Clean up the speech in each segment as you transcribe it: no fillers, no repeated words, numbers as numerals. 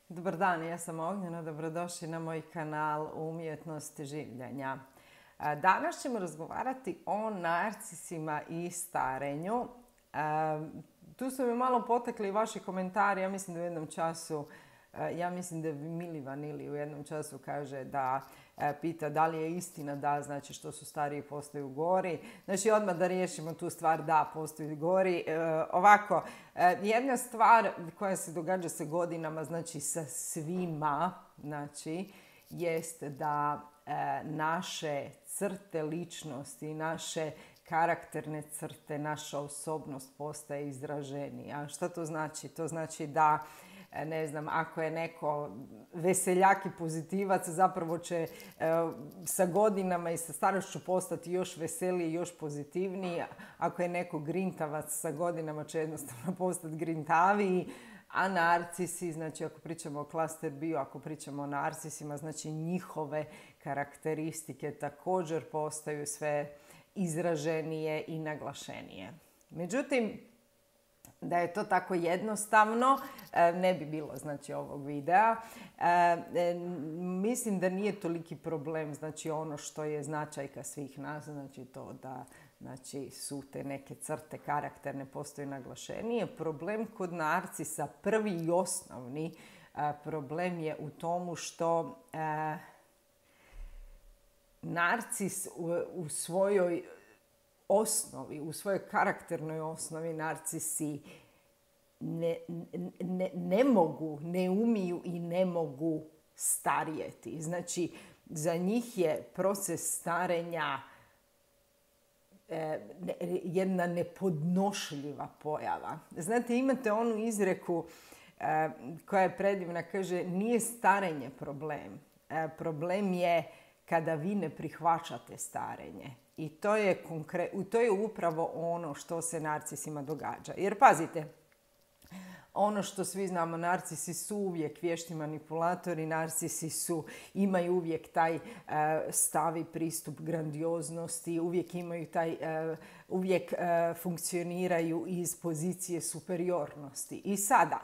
Dobar dan, ja sam Ognjena, dobrodošli na moj kanal Umjetnost življenja. Danas ćemo razgovarati o narcisima i starenju. Tu su mi malo potekli vaši komentari, ja mislim da u jednom času, Mili Vanili u jednom času kaže da pita da li je istina da, znači što su stariji postaju gori. Znači odmah da riješimo tu stvar, da, postaju gori. Ovako, jedna stvar koja se događa sa godinama, znači sa svima, znači, jest da naše crte ličnosti, naše karakterne crte, naša osobnost postaje izraženija. Što to znači? To znači da, ne znam, ako je neko veseljak i pozitivac, zapravo će sa godinama i sa starošću postati još veseliji, još pozitivniji. Ako je neko grintavac, sa godinama će jednostavno postati grintaviji. A narcisi, znači ako pričamo o klaster bio, ako pričamo o narcisima, znači njihove karakteristike također postaju sve izraženije i naglašenije. Međutim, da je to tako jednostavno, ne bi bilo, znači, ovog videa. Mislim da nije toliki problem, znači, ono što je značajka svih nas, znači to da, znači, su te neke crte karakterne postaju naglašenije. Problem kod narcisa, prvi i osnovni problem je u tomu što narcis u svojoj osnovi, u svojoj karakternoj osnovi narcisi ne mogu, ne umiju i ne mogu starijeti. Znači, za njih je proces starenja jedna nepodnošljiva pojava. Znate, imate onu izreku koja je predivna, kaže, nije starenje problem. Problem je kada vi ne prihvaćate starenje. I to je upravo ono što se narcisima događa. Jer pazite, ono što svi znamo, narcisi su uvijek vješti manipulatori, narcisi imaju uvijek taj stavi pristup grandioznosti, uvijek funkcioniraju iz pozicije superiornosti. I sada,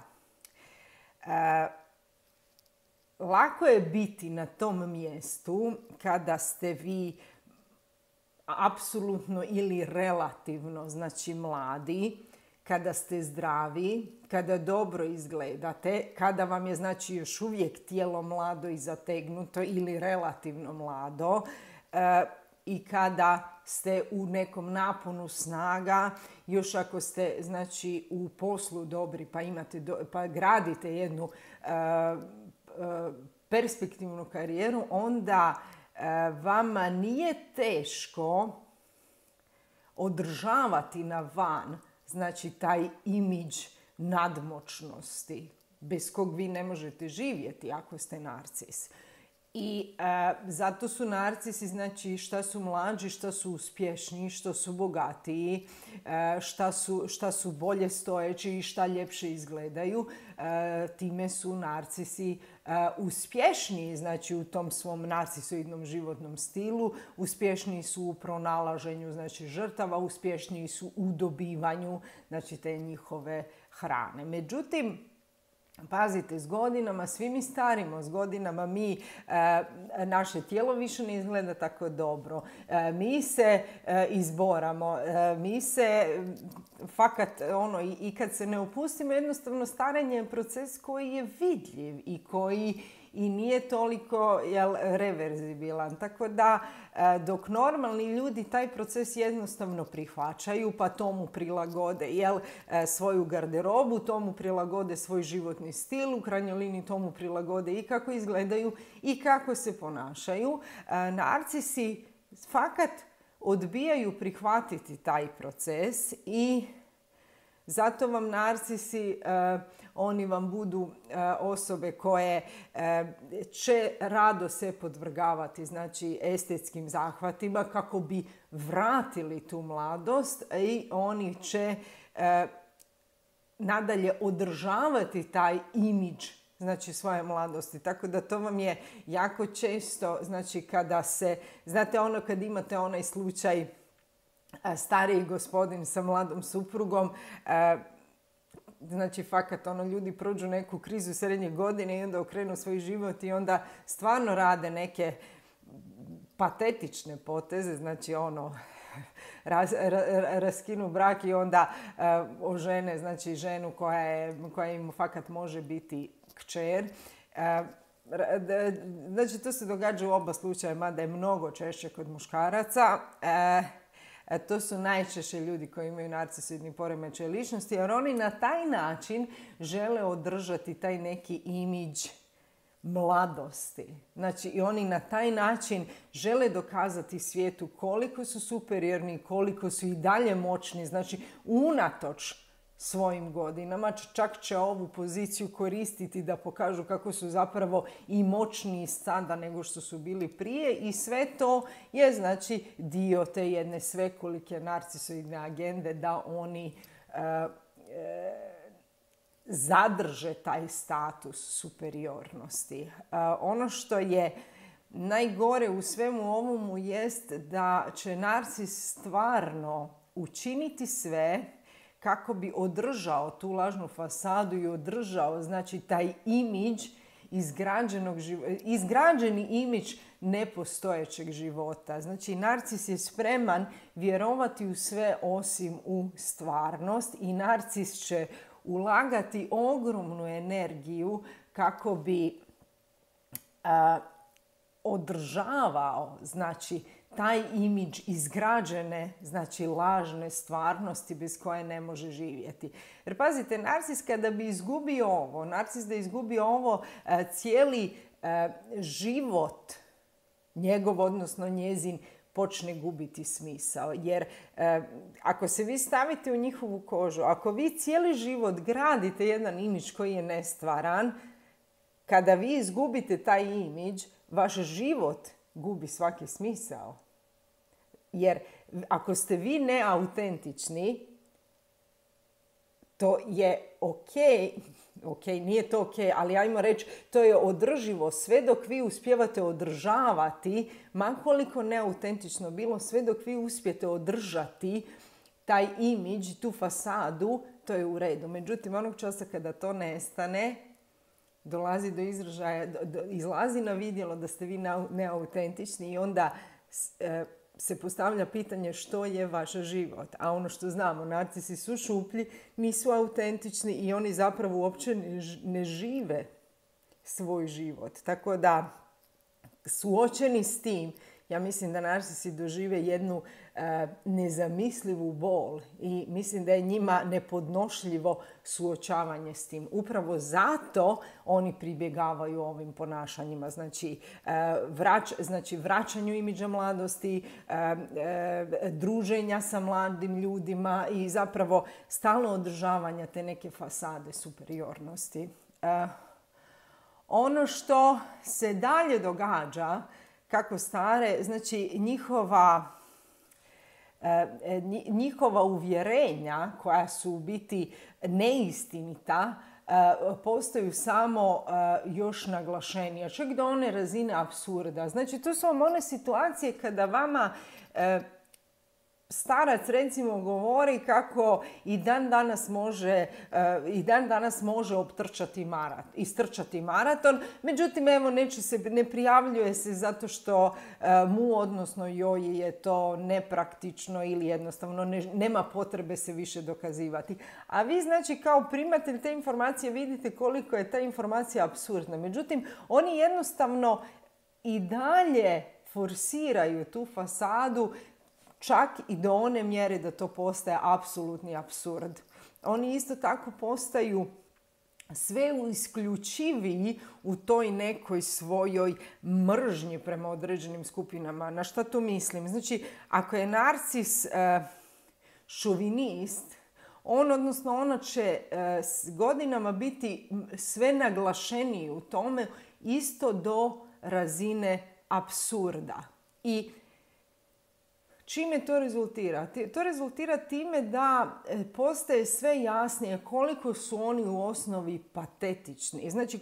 lako je biti na tom mjestu kada ste vi apsolutno ili relativno, znači mladi, kada ste zdravi, kada dobro izgledate, kada vam je, znači, još uvijek tijelo mlado i zategnuto ili relativno mlado, i kada ste u nekom naponu snaga, još ako ste, znači, u poslu dobri pa gradite jednu perspektivnu karijeru, onda vama nije teško održavati na van, znači, taj imidž nadmoćnosti bez kog vi ne možete živjeti ako ste narcis. I zato su narcisi, znači, šta su mlađi, šta su uspješniji, što su bogatiji, šta su bolje stojeći i šta ljepše izgledaju, time su narcisi uspješniji, znači, u tom svom narcisoidnom životnom stilu, uspješniji su u pronalaženju, znači, žrtava, uspješniji su u dobivanju, znači, te njihove hrane. Međutim, pazite, s godinama, svi mi starimo, s godinama naše tijelo više ne izgleda tako dobro. Mi se izboramo, mi se fakat, i kad se ne opustimo, jednostavno starenje je proces koji je vidljiv i koji i nije toliko reverzibilan. Tako da, dok normalni ljudi taj proces jednostavno prihvaćaju, pa tomu prilagode svoju garderobu, tomu prilagode svoj životni stil, u krajnjoj liniji tomu prilagode i kako izgledaju i kako se ponašaju. Narcisi fakat odbijaju prihvatiti taj proces i zato vam narcisi, oni vam budu osobe koje će rado se podvrgavati, znači, estetskim zahvatima kako bi vratili tu mladost, i oni će nadalje održavati taj imidž, znači, svoje mladosti. Tako da to vam je jako često, znači, kada se, znate, kad imate onaj slučaj stariji gospodin sa mladom suprugom, znači fakat ljudi prođu neku krizu srednje godine i onda okrenu svoj život i onda stvarno rade neke patetične poteze, znači raskinu brak i onda ožene, znači ženu koja im fakat može biti kćer. Znači to se događa u oba slučaja, mada je mnogo češće kod muškaraca. To su najčešće ljudi koji imaju narcisoidni poremećaj ličnosti, jer oni na taj način žele održati taj neki imidž mladosti. Znači i oni na taj način žele dokazati svijetu koliko su superiorni, koliko su i dalje moćni, znači unatoč svojim godinama, čak će ovu poziciju koristiti da pokažu kako su zapravo i moćniji sada nego što su bili prije i sve to je znači dio te jedne svekolike narcisoidne agende da oni zadrže taj status superiornosti. Ono što je najgore u svemu ovomu jest da će narcis stvarno učiniti sve kako bi održao tu lažnu fasadu i održao znači taj imidž izgrađeni imidž nepostojećeg života. Znači narcis je spreman vjerovati u sve osim u stvarnost i narcis će ulagati ogromnu energiju kako bi održavao znači taj imidž izgrađene, znači lažne stvarnosti bez koje ne može živjeti. Jer pazite, narcis kada bi izgubio ovo, narcis da izgubi ovo, cijeli život njegov, odnosno njezin, počne gubiti smisao. Jer ako se vi stavite u njihovu kožu, ako vi cijeli život gradite jedan imidž koji je nestvaran, kada vi izgubite taj imidž, vaš život gubi svaki smisao. Jer ako ste vi neautentični, to je ok, nije to ok, ali ajmo reći, to je održivo sve dok vi uspijevate održavati, ma koliko neautentično bilo, sve dok vi uspijete održati taj imidž, tu fasadu, to je u redu. Međutim, onog časa kada to nestane, dolazi do izražaja, izlazi na vidjelo da ste vi neautentični i onda se postavlja pitanje što je vaš život. A ono što znamo, narcisi su šuplji, nisu autentični i oni zapravo uopće ne žive svoj život. Tako da, suočeni s tim, ja mislim da narcisi dožive jednu nezamislivu bol i mislim da je njima nepodnošljivo suočavanje s tim. Upravo zato oni pribjegavaju ovim ponašanjima. Znači, vraćanju imidža mladosti, druženja sa mladim ljudima i zapravo stalno održavanja te neke fasade superiornosti. Ono što se dalje događa kako stare, znači njihova uvjerenja koja su u biti neistinita postaju samo još naglašenija, čak do one razine apsurda. Znači to su vam one situacije kada vama starac recimo govori kako i dan danas može istrčati maraton, međutim evo ne prijavljuje se zato što mu odnosno joj je to nepraktično ili jednostavno nema potrebe se više dokazivati. A vi znači kao primatelj te informacije vidite koliko je ta informacija apsurdna. Međutim, oni jednostavno i dalje forsiraju tu fasadu čak i do one mjere da to postaje apsolutni apsurd. Oni isto tako postaju sve isključiviji u toj nekoj svojoj mržnji prema određenim skupinama. Na šta to mislim? Znači, ako je narcis šovinist, ona će s godinama biti sve naglašeniji u tome, isto do razine apsurda. I čime to rezultira? To rezultira time da postaje sve jasnije koliko su oni u osnovi patetični. Znači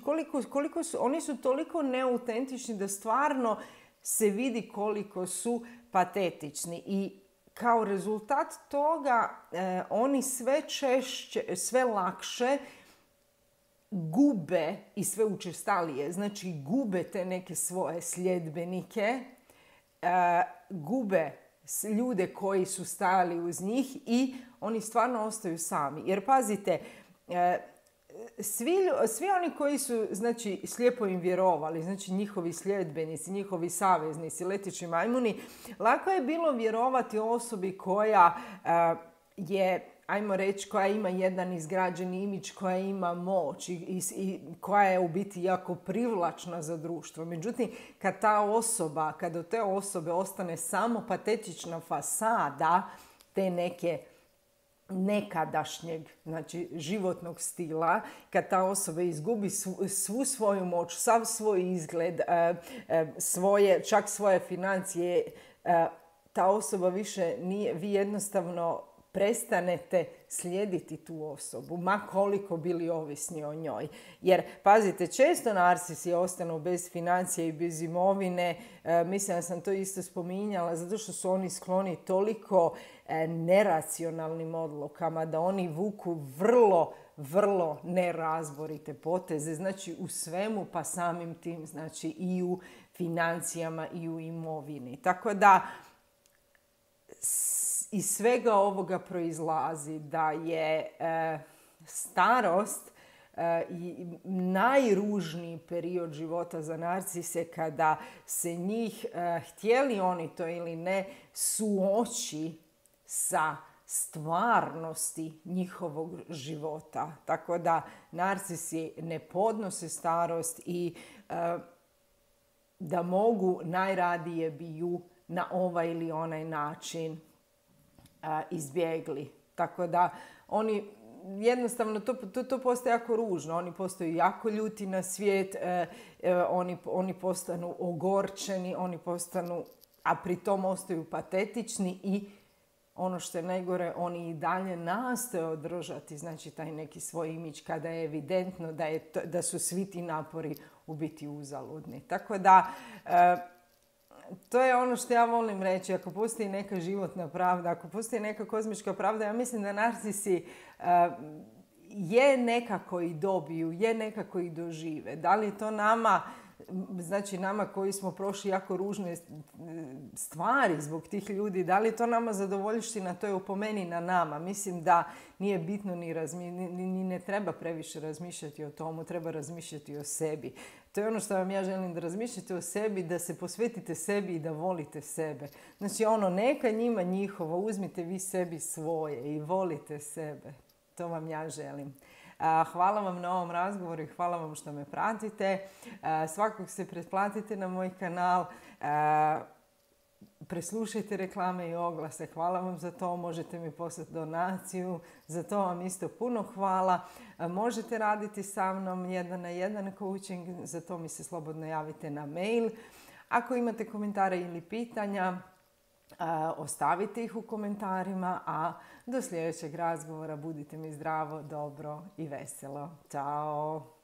oni su toliko neautentični da stvarno se vidi koliko su patetični. I kao rezultat toga oni sve češće, sve lakše gube i sve učestalije, znači gube te neke svoje sljedbenike, gube ljude koji su stajali uz njih i oni stvarno ostaju sami. Jer pazite, svi oni koji su, znači, slijepo im vjerovali, znači njihovi sljedbenici, njihovi saveznici, leteći majmuni, lako je bilo vjerovati osobi koja je, ajmo reći, koja ima jedan izgrađeni imidž, koja ima moć i koja je u biti jako privlačna za društvo. Međutim, kad od te osobe ostane samo patetična fasada te neke nekadašnjeg, znači životnog stila, kad ta osoba izgubi svu svoju moć, sav svoj izgled, čak svoje financije, ta osoba više nije, vi jednostavno prestanete slijediti tu osobu, ma koliko bili ovisni o njoj. Jer, pazite, često narcisi ostanu bez financija i bez imovine. Mislim da sam to isto spominjala, zato što su oni skloni toliko neracionalnim odlukama da oni vuku vrlo nerazborite poteze. Znači u svemu, pa samim tim, znači i u financijama i u imovini. Tako da iz svega ovoga proizlazi da je starost najružniji period života za narcise, kada se njih, htjeli oni to ili ne, suoči sa stvarnosti njihovog života. Tako da narcisi ne podnose starost i da mogu, najradije bi ju na ovaj ili onaj način izbjegli. Tako da oni jednostavno, to postaje jako ružno. Oni postaju jako ljuti na svijet, oni postanu ogorčeni, oni postanu, a pritom ostaju patetični i ono što je najgore, oni i dalje nastoje održati, znači, taj neki svoj imidž kada je evidentno da su svi ti napori u biti uzaludni. Tako da to je ono što ja volim reći. Ako postoji neka životna pravda, ako postoji neka kozmička pravda, ja mislim da narcisi je nekako i dobiju, je nekako i dožive. Da li je to nama, znači nama koji smo prošli jako ružne stvari zbog tih ljudi, da li je to nama zadovoljština, to je po meni na nama. Mislim da nije bitno ni ne treba previše razmišljati o tomu, treba razmišljati o sebi. To je ono što vam ja želim, da razmišljate o sebi, da se posvetite sebi i da volite sebe. Znači neka njima njihovo, uzmite vi sebi svoje i volite sebe. To vam ja želim. Hvala vam na ovom razgovoru i hvala vam što me pratite. Svakog se pretplatite na moj kanal. Preslušajte reklame i oglase. Hvala vam za to. Možete mi poslati donaciju. Za to vam isto puno hvala. Možete raditi sa mnom 1-na-1 coaching. Za to mi se slobodno javite na mail. Ako imate komentare ili pitanja, ostavite ih u komentarima, a do sljedećeg razgovora budite mi zdravo, dobro i veselo. Ćao!